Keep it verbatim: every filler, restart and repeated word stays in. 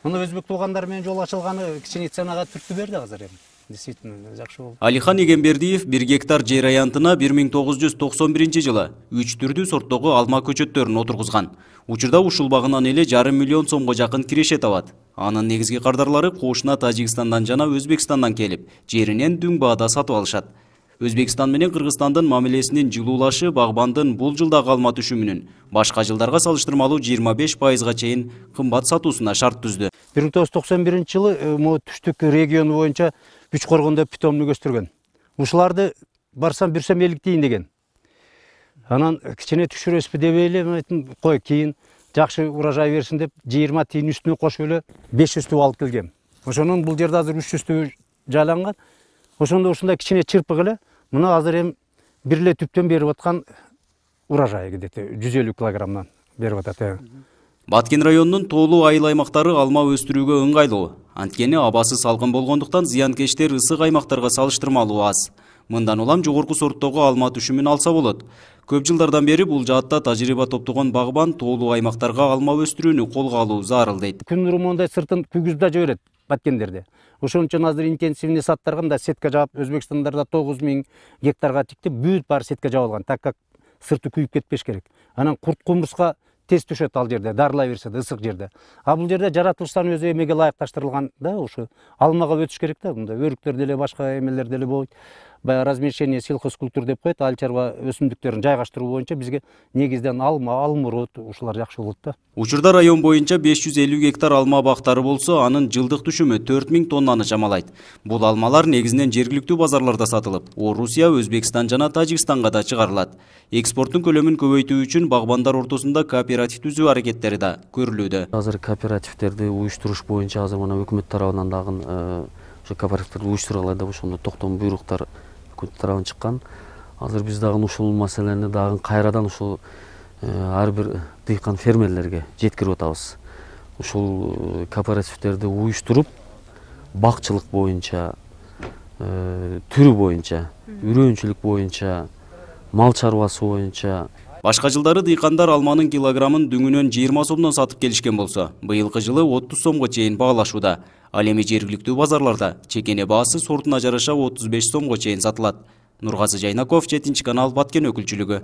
Муну өзбек туугандар менен жол ачылганы кичине ценага түрткү берди азыр эми. Действительно жакшы болду. Алихан Эгембердиев бир гектар жер аянтына бир миң тогуз жүз токсон биринчи жылы үч түрдүү сорттогу алма көчөттөрүн отургузган. Учурда ушул багынан эле жарым миллион сомго жакын киреше табат. Анын негизги кардарлары кошуна Тажикстандан жана Өзбекстандан келип, жеринен дүң баада сатып алышат. Өзбекстан менен Кыргызстандын мамилесинин жылуулашы багбандын бул жылдагы алма түшүмүнүн башка жылдарга салыштырмалуу жыйырма беш пайызга чейин кымбат сатуусуна шарт түздү. бир миң тогуз жүз токсон биринчи жылы могу түштүк региону боюнча үч коргондо питомнук өстүргөн. Ушуларды барсам бүрсөм элик тиин деген. Анан кичине түшүрөсүзбү деп элем, айттым, кой кийин жакшы урожай берсин деп жыйырма тиин үстүнө кошуп эле беш жүз түп алып келгем. Ошонун бул жерде азыр үч жүз түп жайланган. Ошондо ушундай кичине чырпык эле мына азыр эми бир эле түптөн берип аткан урожай где-то жүз элүү килограммдан берип атат. Баткен районунун тоолуу айыл аймактары алма өстүрүүгө ыңгайлуу. Анткени абасы салкын болгондуктан зыянкечтер ысык аймактарга салыштырмалуу аз. Мындан улам жогорку сорттогу алма түшүмүн алса болот. Көп жылдардан бери бул жаатта тажрыйба топтогон багбан тоолуу аймактарга алма өстүрүүнү колго алуу зарыл дейт. Күн нуру мондай сыртын күгүзүп да жиберет Баткендерде. Ошон үчүн азыр интенсивный саттарга мында сетка жаап, Өзбекстандарда тогуз миң гектарга тиктип, бүт баары сетка жабылган, так как сырты күйүп кетпеш керек. Анан курт кумурска тез түшөт ал жерде, дарылай берсе да ысык жерде. А бул жерде жаратылыштан өзү эмеге ылайыкташтырылган да, ушу алмага өтүш керек да, мында өрүктөр деле башка эмелер деле болот. Баягы размещение сельхозкультур деп коет, ал чарба өсүмдүктөрүн жайгаштыруу боюнча бизге негизден алма, алмурут ушулар жакшы болот да. Учурда район боюнча беш жүз элүү гектар алма бактары болсо, анын жылдык түшүмү төрт миң тоннаны жамалайт. Бул алмалар негизинен жергиликтүү базарларда сатылып, Орусия, Өзбекстан жана Тажикстанга да чыгарылат. Экспорттун көлөмүн көбөйтүү үчүн багбандар ортосунда кооператив түзүү аракеттери да көрүлүүдө. Азыр кооперативтерди уюштуруш боюнча азыр мына өкмөт тарабынан дагы ошо кооперативтерди уюштуралар деп ошондо токтом буйруктар өкмөт тарабынан чыккан. Азыр биз дагы ушул маселени дагы кайрадан ушул ар бир дыйкан фермерлерге жеткирип атабыз. Ушул кооперативтерди уюштуруп, бакчылык боюнча, түрү боюнча, үрөөнчүлүк боюнча, мал чарбасы боюнча. Башка жылдары дыйкандар алманын килограммын дүңүнөн жыйырма сомдон сатып келишкен болсо, быйылкы жылы отуз сомго чейин баалашууда. Ал эми жергиликтүү базарларда чекене баасы сортуна жараша отуз беш сомго чейин сатылат. Нургазы Жайнаков, жетинчи канал, Баткен өкүлчүлүгү.